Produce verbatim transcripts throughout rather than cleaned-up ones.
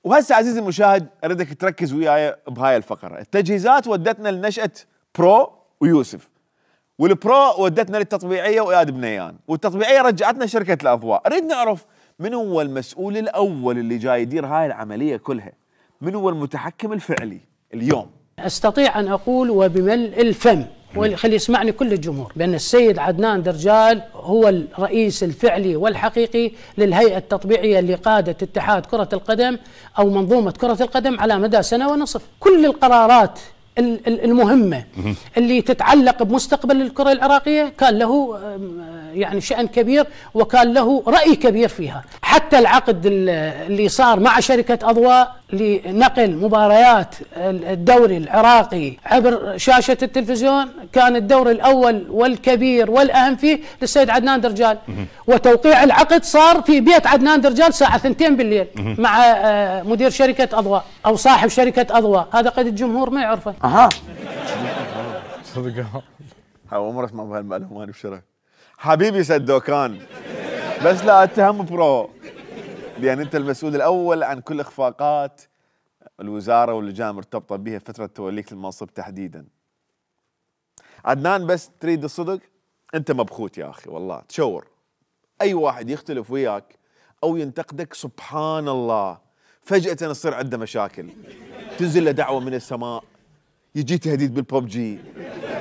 وهسه عزيزي المشاهد اريدك تركز وياي بهاي الفقره، التجهيزات ودتنا لنشأة برو ويوسف، والبرو ودتنا للتطبيعيه واياد بنيان، والتطبيعيه رجعتنا شركه الاضواء. اريد نعرف من هو المسؤول الاول اللي جاي يدير هاي العمليه كلها؟ من هو المتحكم الفعلي اليوم؟ استطيع ان اقول وبملء الفم وخلي يسمعني كل الجمهور بأن السيد عدنان درجال هو الرئيس الفعلي والحقيقي للهيئة التطبيعية اللي قادت اتحاد كرة القدم أو منظومة كرة القدم على مدى سنة ونصف. كل القرارات المهمة اللي تتعلق بمستقبل الكرة العراقية كان له يعني شأن كبير وكان له رأي كبير فيها. حتى العقد اللي صار مع شركة أضواء لنقل مباريات الدوري العراقي عبر شاشة التلفزيون كان الدور الأول والكبير والأهم فيه للسيد عدنان درجال، وتوقيع العقد صار في بيت عدنان درجال الساعة اثنتين بالليل مع مدير شركة أضواء أو صاحب شركة أضواء. هذا قد الجمهور ما يعرفه. اها صدق اول مرة اسمع بهالمعلومة انا بشرف حبيبي سدوكان، بس لا اتهم برو لان انت المسؤول الاول عن كل اخفاقات الوزاره واللجان المرتبطه بها فتره توليك المنصب تحديدا. عدنان بس تريد الصدق انت مبخوت يا اخي والله، تشور اي واحد يختلف وياك او ينتقدك سبحان الله فجاه يصير عنده مشاكل، تنزل له دعوه من السماء، يجي تهديد بالببجي،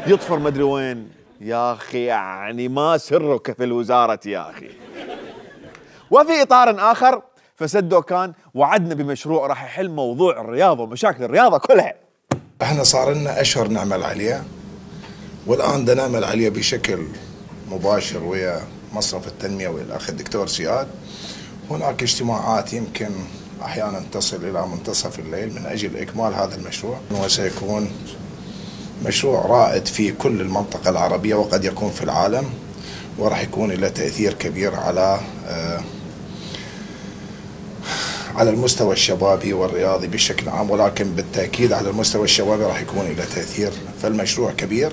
يطفر مدري وين يا اخي، يعني ما سرك في الوزاره يا اخي. وفي اطار اخر فسدوكان وعدنا بمشروع راح يحل موضوع الرياضه ومشاكل الرياضه كلها. احنا صار لنا اشهر نعمل عليه، والان بدنا نعمل عليه بشكل مباشر ويا مصرف التنميه ويا الاخ الدكتور سياد. هناك اجتماعات يمكن احيانا تصل الى منتصف الليل من اجل اكمال هذا المشروع، وسيكون مشروع رائد في كل المنطقه العربيه وقد يكون في العالم، وراح يكون له تاثير كبير على آه على المستوى الشبابي والرياضي بشكل عام، ولكن بالتاكيد على المستوى الشبابي راح يكون له تاثير. فالمشروع كبير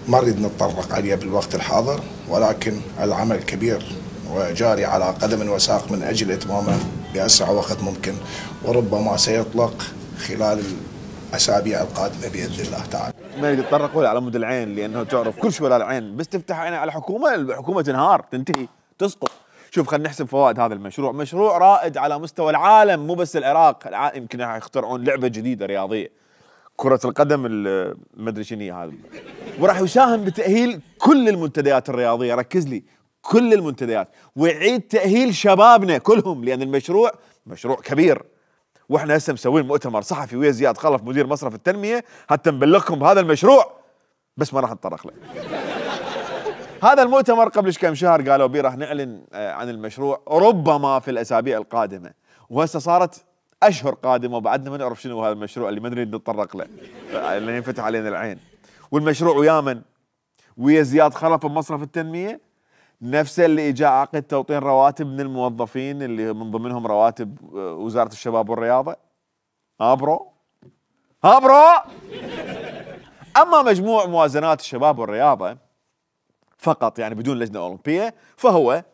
ما نريد نتطرق عليه بالوقت الحاضر، ولكن العمل كبير وجاري على قدم وساق من اجل اتمامه باسرع وقت ممكن، وربما سيطلق خلال الاسابيع القادمه باذن الله تعالى. ما يريد يتطرق ولا على مود العين لانه تعرف كل شيء ولا العين، بس تفتح عينها على الحكومه الحكومه تنهار تنتهي تسقط. شوف خلينا نحسب فوائد هذا المشروع، مشروع رائد على مستوى العالم مو بس العراق، العالم يمكن يخترعون لعبه جديده رياضيه كرة القدم ما ادري شنو هذا، وراح يساهم بتأهيل كل المنتديات الرياضية، ركز لي كل المنتديات، ويعيد تأهيل شبابنا كلهم لأن المشروع مشروع كبير. واحنا هسه مسوين مؤتمر صحفي ويا زياد خلف مدير مصرف التنمية حتى نبلغكم بهذا المشروع، بس ما راح نتطرق له. هذا المؤتمر قبل كم شهر قالوا بيه راح نعلن عن المشروع ربما في الأسابيع القادمة، وهسه صارت اشهر قادمه وبعدنا ما نعرف شنو هذا المشروع اللي ما نريد نتطرق له اللي ينفتح علينا العين. والمشروع ويا من؟ ويا زياد خلف بمصرف التنميه، نفسه اللي اجى عقد توطين رواتب من الموظفين اللي من ضمنهم رواتب وزاره الشباب والرياضه. ها برو؟ ها برو؟ اما مجموع موازنات الشباب والرياضه فقط يعني بدون لجنه اولمبيه فهو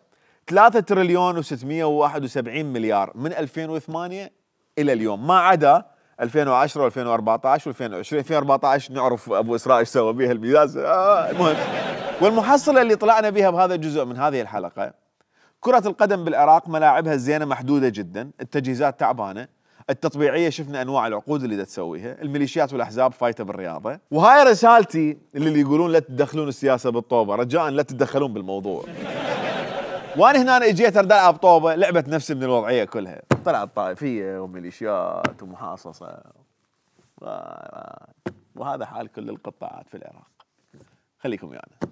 ثلاثة تريليون وستمئة وواحد وسبعين مليار من ألفين وثمانية الى اليوم، ما عدا ألفين وعشرة وألفين وأربعة عشر وألفين وعشرين. ألفين وأربعة عشر نعرف ابو اسراء ايش سوى بها الميزان. آه المهم، والمحصله اللي طلعنا بها بهذا الجزء من هذه الحلقه، كره القدم بالعراق ملاعبها الزينه محدوده جدا، التجهيزات تعبانه، التطبيعيه شفنا انواع العقود اللي دا تسويها، الميليشيات والاحزاب فايته بالرياضه. وهاي رسالتي اللي يقولون لا تدخلون السياسه بالطوبه، رجاء لا تتدخلون بالموضوع. وانا هنا أنا اجيت ارد العب طوبه، لعبت نفسي من الوضعيه كلها، طلعت طائفيه وميليشيات ومحاصصه، وهذا حال كل القطاعات في العراق. خليكم ويانا.